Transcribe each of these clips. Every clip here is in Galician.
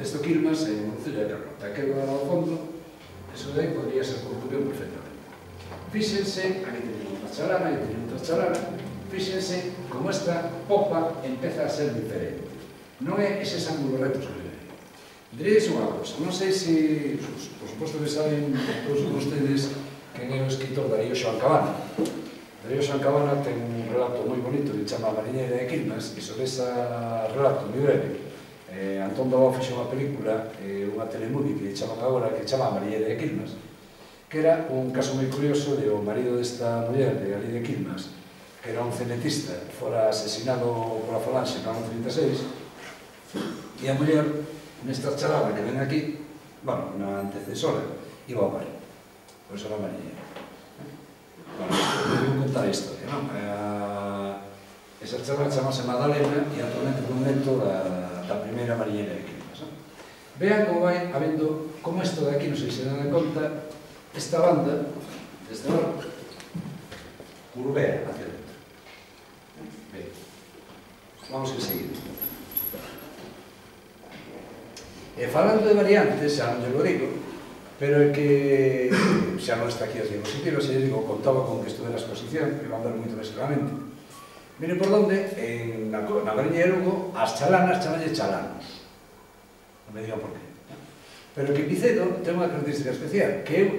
Este Quilmas en Concello de Carnota. Aquel ao fondo, eso de aí podría ser Corcubión perfectamente. Fíxense, aquí teñen outra chalana, aquí teñen outra chalana, fíxense como esta popa empeza a ser diferente. Non é eses ángulos rectos que ven. Diréis unha cosa, non sei se, por suposto que saben todos vostedes quen é o escritor Darío Xoán Cabana. Darío Xoán Cabana ten un relato moi bonito que chama A mariñeira de Quilmas, e sobre ese relato moi breve Antón Dabao fixo unha película, unha telemovie que chaman agora, que chama A mariñeira de Quilmas, que era un caso moi curioso de o marido desta muller de ali de Quilmas, que era un cenetista, fora asesinado pola Falanxe no ano 36, e a muller, nesta charada que ven aquí, bueno, na antecesora, iba ao mar. Por iso era a mariñeira. Bueno, vou contar a historia, non? Esa charada chamase Madalena e actualmente un neto da primeira mariñeira de Quilmas. Vean como vai habendo, como isto de aquí, non sei se dan conta, esta banda, desde lado, curvea hacia dentro. Ben, vamos a seguir. Falando de variantes, xa non lle lo digo, pero é que xa non está aquí as diapositivas, e digo, contaba con que estuve na exposición, que van ver moito máis claramente. Miren por onde, na mariñeira Lugo, as chalanas chamanlle chalanos. Non me digan por qué. Pero que Picedo ten unha característica especial, que eu,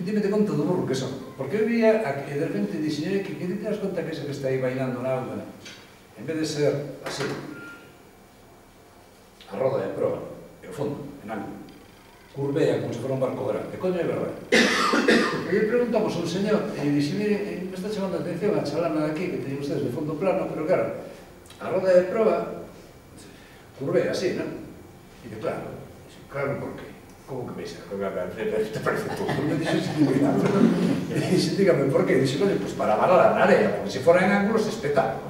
dime conta do burro que son, porque eu vía, e de repente dixen, que te das conta que ese que está aí bailando na auga, en vez de ser así, a roda de proa, e o fondo, en ángulo, curvea como se fora un barco grande, coño é verdade. E lle preguntamos a un señor, e dixen, mire, me está chamando a atención a chalana de aquí, que teñen ustedes de fondo plano, pero claro, a roda de proa curvea así, non? E de claro, por qué? Como que veis? Te parece todo. Me dixo, dígame, por qué? Dixo, pues para varar a área, porque se fora en ángulos, espectáculo.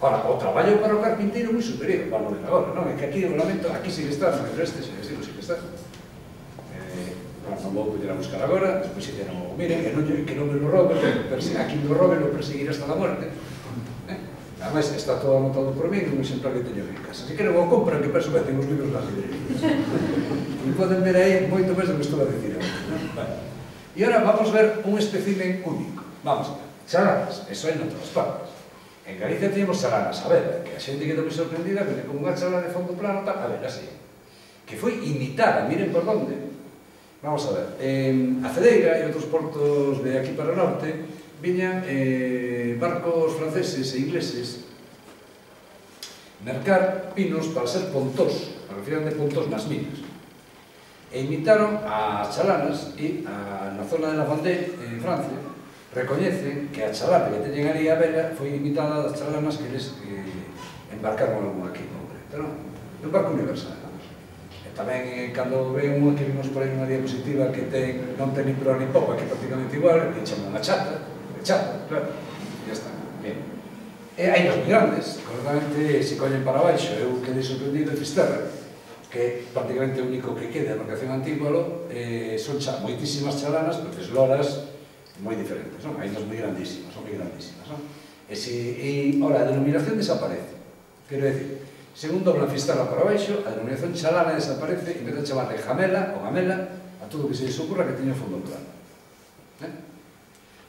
Ahora, o traballo para o carpinteiro é moi superior, para o de agora, non? É que aquí o lamento, aquí sí que está, pero este sí que está. Non vou poder a buscar agora, despois se non o miren, que non me lo roben, aquí me lo roben, lo perseguiré hasta la muerte. Además, está todo anotado por mí, un exemplar que teño en casa. Se queren o compran, que perso que ten os libros nas librerías. E poden ver aí moito máis do que estou a dicir. E agora vamos ver un espécimen único. Vamos a ver, chalanas, eso hai en todas partes. En Galicia teníamos chalanas, a ver, que a xente quedou moi sorprendida, que como unha chalana de fondo plano, a ver, así. Que foi imitada, miren por onde. Vamos a ver, a Cedeira e outros portos de aquí para o norte, viñan barcos franceses e ingleses mercar pinos para ser pontós, para que firan de pontós nas minas. E imitaron as chalanas e na zona de La Vendée, en Francia, recoñecen que a chalana que teñen ali a vela foi imitada das chalanas que eles embarcaron aquí en concreto, non? É un barco universal. E tamén, cando ven unha que vimos por aí nunha diapositiva que non ten ni proa ni popa, que é prácticamente igual, que chaman a chata, claro, e ya está, bien. E hai os moi grandes, concretamente, se collen para baixo, eu quedei sorprendido de Fisterra, que prácticamente o único que queda da embarcación antigua, son moitísimas chalanas, pero loras moi diferentes, non? Hai unhas moi grandísimas, son moi grandísimas, non? E, ora, a denominación desaparece. Quero decir, según doblan Fisterra para baixo, a denominación chalana desaparece, en vez de chamarle jamela ou gamela, a todo o que se les ocurra que teña fondo plano.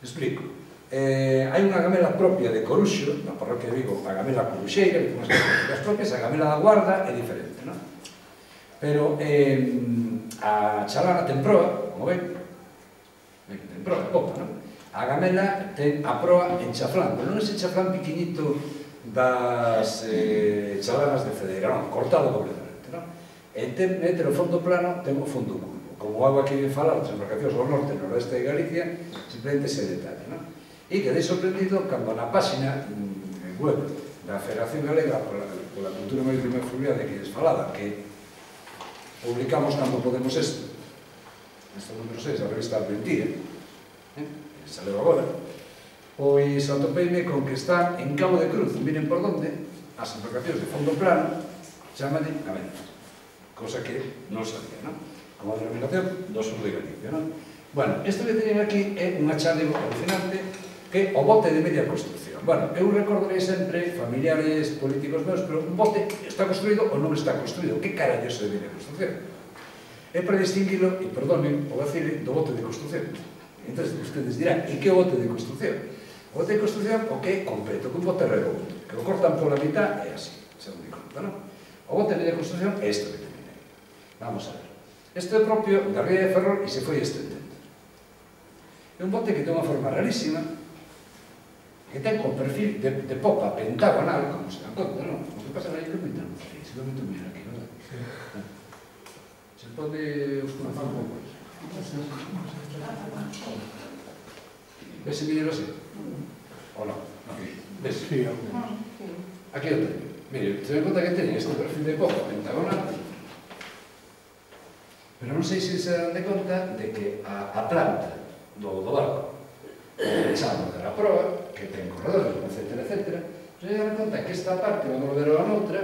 Explico. Hai unha gamela propia de Coruxo, na parroquia de Vigo, a gamela coruxeira, que ten unhas características propias, a gamela da Guarda é diferente, non? Pero a chalana ten proa, como ven, ten proa, popa, non? A gamela ten a proa en chaflán, pero non ese chaflán piquiñito das chalanas de Cedeira, non, cortado completamente, non? E ten o fondo plano, ten o fondo curvo. Como algo aquí ven falar, as embarcacións ao norte e noroeste de Galicia, simplemente ese detalle, non? E quedei sorprendido cando na páxina web da Federación Galega pola Cultura Marítima e Fluvial que lles falaba, que publicamos cando podemos isto, neste número 6 da revista Argentina, saleu agora, pois atopeime con que está en Cabo de Cruz, miren por onde, as embarcacións de fondo plano chamanlle gamelas, cosa que non sabía, non? Como a denominación do sur de Galicia, non? Bueno, isto que teñen aquí é unha chale alucinante que que o bote de media construcción. Bueno, eu recordarei sempre familiares políticos meus, pero un bote está construído ou non está construído. Que carallo é de media construcción? É para distinguilo, e perdonen o vacile, do bote de construcción. Entón, ustedes dirán, e que bote de construcción? O bote de construcción, o que é completo, que un bote redondo, que o cortan pola mitad, é así, según di conta, non? O bote de media construcción é isto que terminei. Vamos a ver. Isto é propio da ría de Ferrol e se foi estendendo. É un bote que ten unha forma rarísima, que ten un perfil de popa pentagonal, como se dan conta, non? O que pasa aí que me dan, se non me tomar aquí, non? Se pode oscurecer un pouco. Ves ese vídeo así? Ou non? Ves? Aquí o teño. Mire, se me conta que teñen este perfil de popa pentagonal, pero non sei se se dan de conta de que a planta do barco echamos de la proa, que ten corredores, etc., etc., se dan conta que esta parte, vamos a ver a noutra,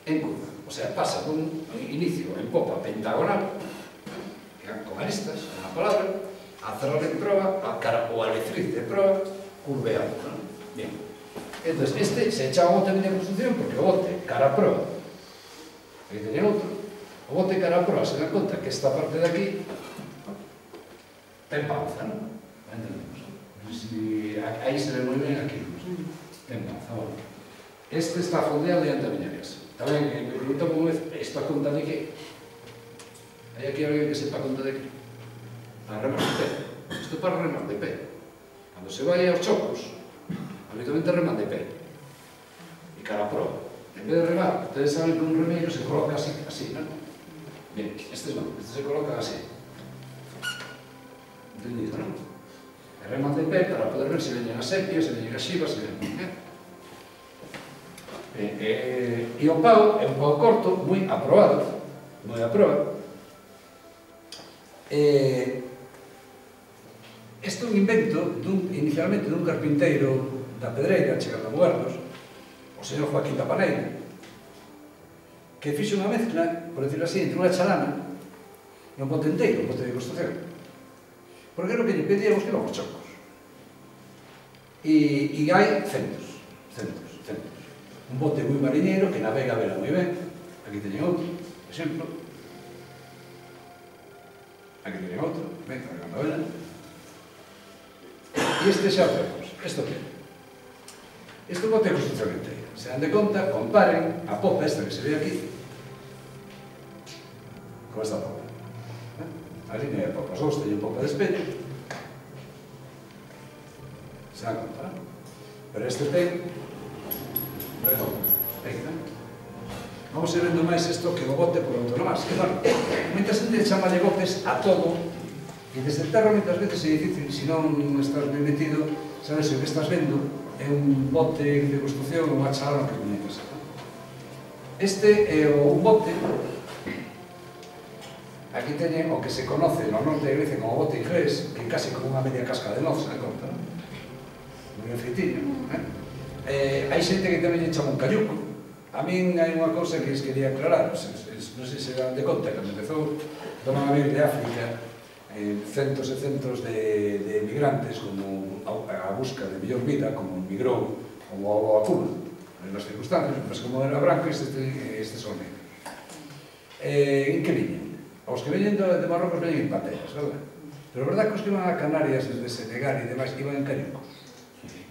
en curva. O sea, pasa dun inicio en popa pentagonal, con aristas, unha palabra, a cerrar en proa, o aletriz de proa, curveando, non? Bien. Entón, este se echa o bote de construcción porque o bote cara a proa, aquí teña outro, o bote cara a proa se dan conta que esta parte de aquí ten panza, non? Entendemos. Aí se ve moi ben aquí, ten panza, bueno. Este está fondeado diante da miña casa. Tamén, me pregunto como esta conta de que hai aquí alguén que sepa conta de que para remar de pé. Isto para remar de pé. Cando se vai aos chocos, habitualmente reman de pé e cara a proa. En vez de remar, ustedes saben que un remeiro se coloca así, non? Bien, estes non, estes se colocan así. Entendido, non? E reman de pé para poder ver se veñen as sepias, se veñen as xivas, se veñen... E o pau é un pau corto, moi aprobado, moi aprobado. Este é un invento, inicialmente, dun carpinteiro da Pedreira, chegando a Muertos, o señor Joaquín da Paneira, que fixe unha mezcla, por decirlo así, entre unha chalana e un bote enteiro, un bote de construcción. Porque é o que lle pedíamos que íbamos chocos. E hai centos. Un bote moi mariñeiro que navega a vela moi ben. Aquí teñen outro, por exemplo. Aquí teñen outro, ben, navegando a vela. E este xa o vemos. Isto que é? Isto é un bote de construcción inteira. Se dan de conta, comparen a popa esta que se ve aquí con esta popa. A línea de popa. Os dous teñen popa de espello. Se dan conta, non? Pero este ten... Vamos a ir vendo máis isto que o bote por autonomás. Que, bueno, moita xente chamalle botes a todo, e desde terra moitas veces é difícil, se non estás ben metido, sabes, o que estás vendo é un bote de construcción ou unha chalana que coñeces. Este é un bote, aquí teñen o que se conoce no norte de Grecia como bote inglés, que é casi como unha media casca de noz, se me conta, non? Moi ben feitiño, hai xente que tamén lle chama un cayuco. A min hai unha cousa que les quería aclarar, non sei se dan de conta, cando empezou a vir de África centos e centos de migrantes como a busca de mellor vida, como migrou como a Cuba, nas circunstancias, mas como era branco, estes son negros. En que viñen? Os que veñen de Marrocos veñen en pateras, verdad? Pero a verdad que os que iban a Canarias desde Senegal e demais iban en cayucos.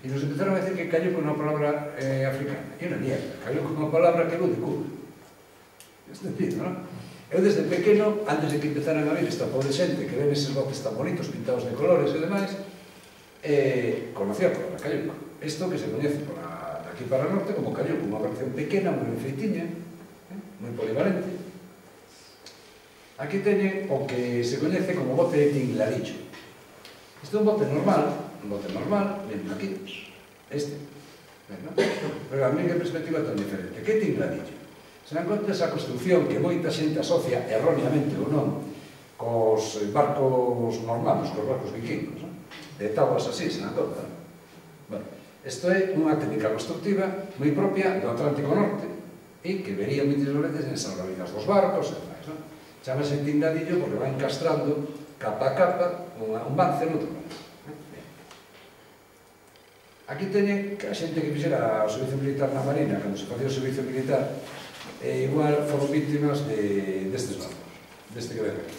E nos empezaron a decir que cayuco é unha palabra africana. E unha mierda. Cayuco é unha palabra que vou de Cuba. Es decir, non? Eu desde pequeno, antes de que empezaran a vir esta pobre xente que ven eses botes tan bonitos, pintados de colores e demais, conocía a palabra cayuco. Isto que se coñece de aquí para o norte como cayuco, unha versión pequena, moi feitiña, moi polivalente. Aquí teñen o que se coñece como bote de tingladillo. Isto é un bote normal, ven aquí, este, pero a mí que perspectiva tan diferente. Que tingladillo? Se dan conta esa construcción que moita xente asocia erróneamente ou non cos barcos normales, cos barcos vikingos, de tabuas así, se dan conta. Bueno, isto é unha técnica constructiva moi propia do Atlántico Norte e que vería moitas veces en salvavidas dos barcos e demais, non? Chámase tingladillo porque va encastrando capa a capa un vance no outro vance. Aquí teñen que a xente que fixera o servicio militar na Marina, cando se facía o servicio militar, igual foron víctimas destes barcos, deste que ven aquí.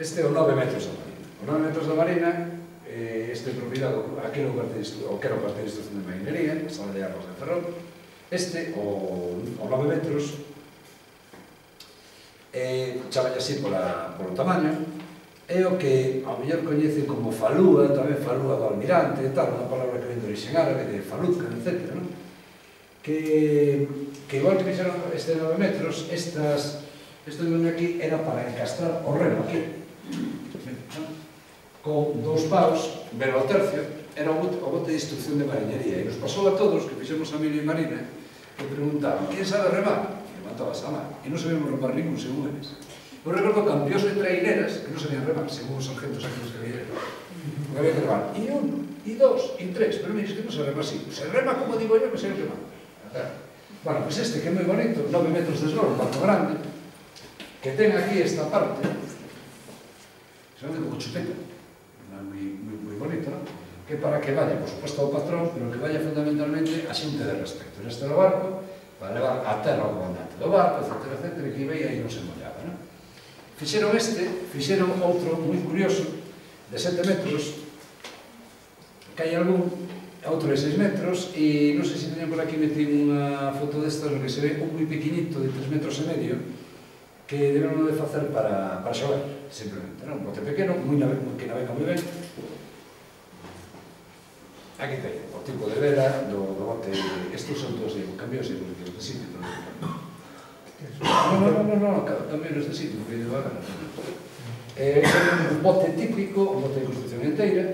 Este é o 9 metros da Marina. O 9 metros da Marina, este é propiedade, aquele o que era o cuartel de instrucción de marinería, a sala de armas de Ferrol. Este, o 9 metros, chamalle así polo tamaño, é o que ao mellor coñecen como falúa, tamén falúa do almirante, tal, unha palabra que ven de origen árabe, de faluca, etc. Que igual que fixeron este 9 metros, isto que ven aquí era para encastrar o remo aquí, con dous paus, velo ao tercio, era o bote de instrucción de marinería, e nos pasou a todos que fixemos a Mili e Marina, que preguntaban, quen sabe remar? E levantabas a man, e non sabíamos remar ningún, según eles. Eu recordo campións de traineras que non sabían remar, según os sargentos aquí nos que había. Porque había que remar e un, e dos, e tres, pero mire, es que non se rema así. Se rema como digo yo, que se rema. Bueno, pues este que é moi bonito, 9 metros de esloro, un barco grande, que ten aquí esta parte, se llama como chupeta, moi bonito, non? Que para que vaya, por suposto, ao patrón, pero que vaya fundamentalmente a xente de respecto. Neste do barco, para levar a terra ao comandante do barco, etc., etc., que iba e aí non se mollaba, non? Fixeron outro moi curioso, de 7 metros, que hai algún, outro de 6 metros, e non sei se teñen por aquí metín unha foto destas, que se ve un moi pequeñito, de 3 metros e medio, que debemos de facer para xogar, simplemente, non? Un bote pequeno, que navega moi ben. Aquí ten o tipo de vela do bote, estes son todos de cambios e de sitio, No, cambios de sitio, porque ido a ganar. É un bote típico, un bote de construcción inteira.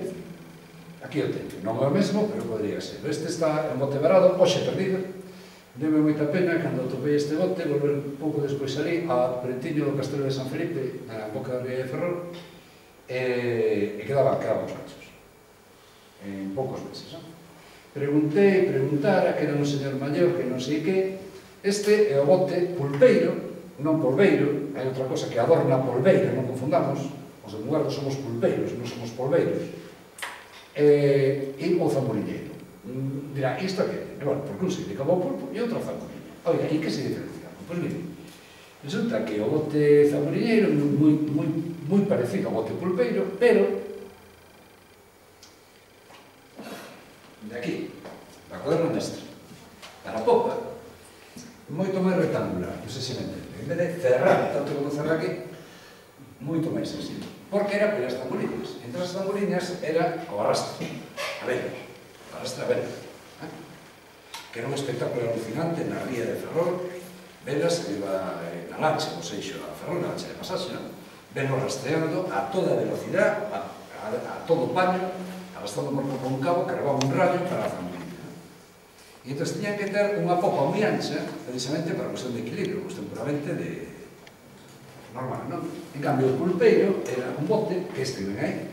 Aquí o teño, non é o mesmo, pero podría ser. Este está en bote varado, hoxe perdido. Deme moita pena, cando atopei este bote, volver un pouco despois ali a Prentiño do Castelo de San Felipe, na boca da ría de Ferrol, e quedaban os cachos. En poucos meses, non? Preguntara, que era un señor maior, que non sei que. Este é o bote pulpeiro, non polveiro, hai outra cosa que adorna a polveira, non confundamos, os de Mugardo somos pulpeiros, non somos polveiros, e o zamburiñeiro. Dirá, isto que é? Bueno, porque un se dedica ao pulpo e outro ao zamburiñeiro. Oiga, e que se diferencia? Pois mire, resulta que o bote zamburiñeiro é moi parecido ao bote pulpeiro, pero de aquí, da cuaderna mestra, para a popa, moito máis rectangular, non sei se me entende. En vez de cerrar, tanto como cerrar aquí, moito máis así. Porque era pelas tamboriñas. Entre as tamboriñas era o arrastre, a vela, o arrastre a vela. Que era un espectáculo alucinante na ría de Ferrol, velas que iba na lancha, o seixo a Ferrol, na lancha de pasaxe, velo rastreando a toda velocidade, a todo paño, arrastrando por un cabo, cargaba un rayo para a tamboriña. E entón tiñan que ter unha popa moi ancha, precisamente para a cuestión de equilibrio, cuestión puramente de normal, non? En cambio, o pulpeiro era un bote, que este ven aí,